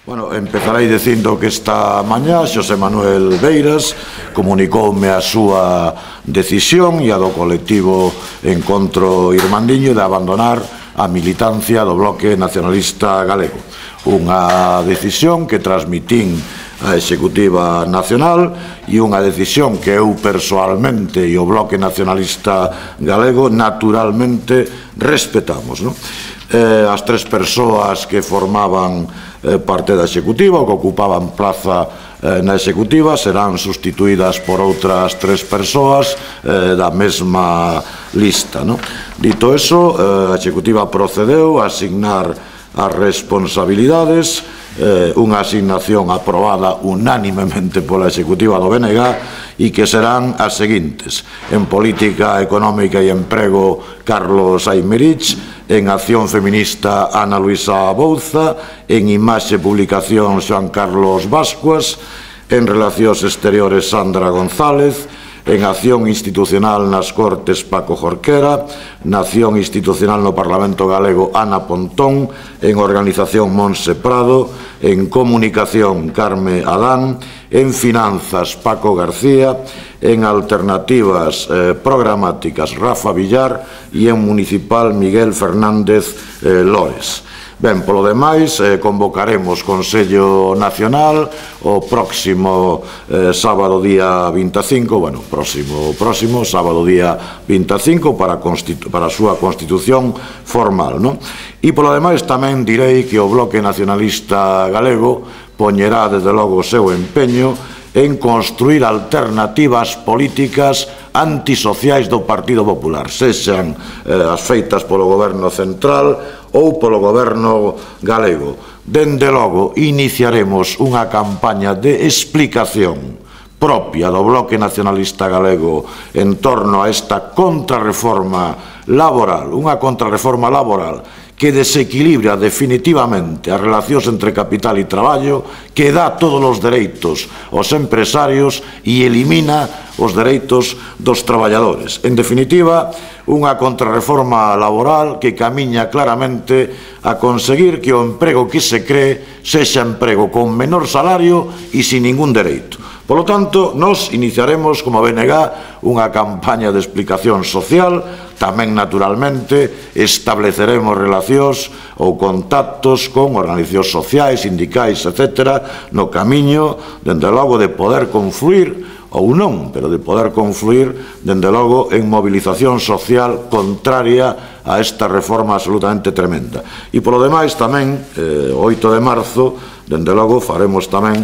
Bueno, empezarei dicindo que esta mañá Xosé Manuel Beiras comunicoume a súa decisión e a do colectivo Encontro Irmandiño de abandonar a militancia do Bloque Nacionalista Galego. Unha decisión que transmitín a Executiva Nacional e unha decisión que eu persoalmente e o Bloque Nacionalista Galego naturalmente respetamos, non? As tres persoas que formaban parte da Executiva ou que ocupaban plaza na Executiva serán sustituídas por outras tres persoas da mesma lista, non? Dito eso, a Executiva procedeu a asignar as responsabilidades, unha asignación aprobada unánimemente pola Executiva do BNG e que serán as seguintes: en Política Económica e Emprego, Carlos Aymerich; en Acción Feminista, Ana Luisa Bouza; en Imaxe e Publicación, Xoan Carlos Bascuas; en Relacións Exteriores, Sandra González; en Acción Institucional nas Cortes, Paco Jorquera; na Acción Institucional no Parlamento Galego, Ana Pontón; en Organización, Monse Prado; en Comunicación, Carme Adán; en Finanzas, Paco García; en Alternativas Programáticas, Rafa Villar; e en Municipal, Miguel Fernández Lores. Ben, polo demais, convocaremos Consello Nacional o próximo sábado día 25, bueno, próximo sábado día 25 para a súa constitución formal, non? E polo demais tamén direi que o Bloque Nacionalista Galego poñerá desde logo o seu empeño en construir alternativas políticas antisociais do Partido Popular, sexan as feitas polo Goberno Central ou polo Goberno Galego. Dende logo, iniciaremos unha campaña de explicación propia do Bloque Nacionalista Galego en torno a esta contrarreforma laboral, unha contrarreforma laboral que desequilibra definitivamente as relacións entre capital e traballo, que dá todos os dereitos aos empresarios e elimina os dereitos dos traballadores. En definitiva, unha contrarreforma laboral que camiña claramente a conseguir que o emprego que se cree sexa emprego con menor salario e sin ningún dereito. Polo tanto, nos iniciaremos como BNG unha campaña de explicación social. Tamén, naturalmente, estableceremos relacións ou contactos con organizacións sociais, sindicais, etc., no camiño, dende logo, de poder confluir, ou non, pero de poder confluir, dende logo, en movilización social contraria a esta reforma absolutamente tremenda. E, polo demais, tamén, o 8 de marzo, dende logo, faremos tamén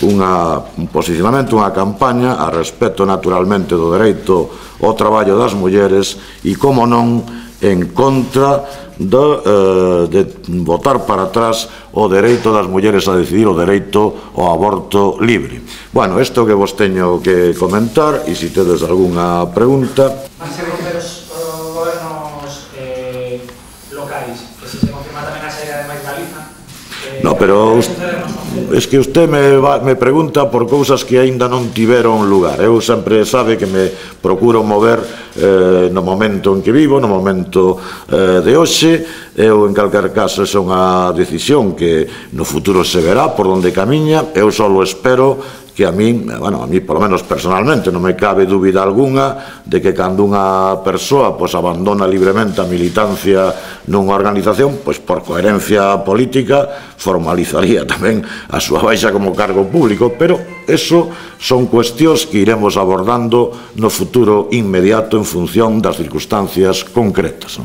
un posicionamento, unha campaña a respecto, naturalmente, do dereito ao traballo das mulleres e, como non, en contra de botar para atrás o dereito das mulleres a decidir, o dereito ao aborto libre. Bueno, isto que vos teño que comentar, e se tedes algunha pregunta. Van ser os gobernos locais, que se confirma tamén a saída de Mais Galiza. No, pero es que usted me pregunta por cousas que aínda non tiveron lugar. Eu sempre sabe que me procuro mover no momento en que vivo, no momento de hoxe. Eu, en calquer caso, é unha decisión que no futuro se verá por onde camiña. Eu só espero que a mí, bueno, a mí, por lo menos personalmente, non me cabe dúbida algunha de que cando unha persoa abandona libremente a militancia nunha organización, pois por coherencia política formalizaría tamén a súa baixa como cargo público, pero eso son cuestións que iremos abordando no futuro inmediato en función das circunstancias concretas.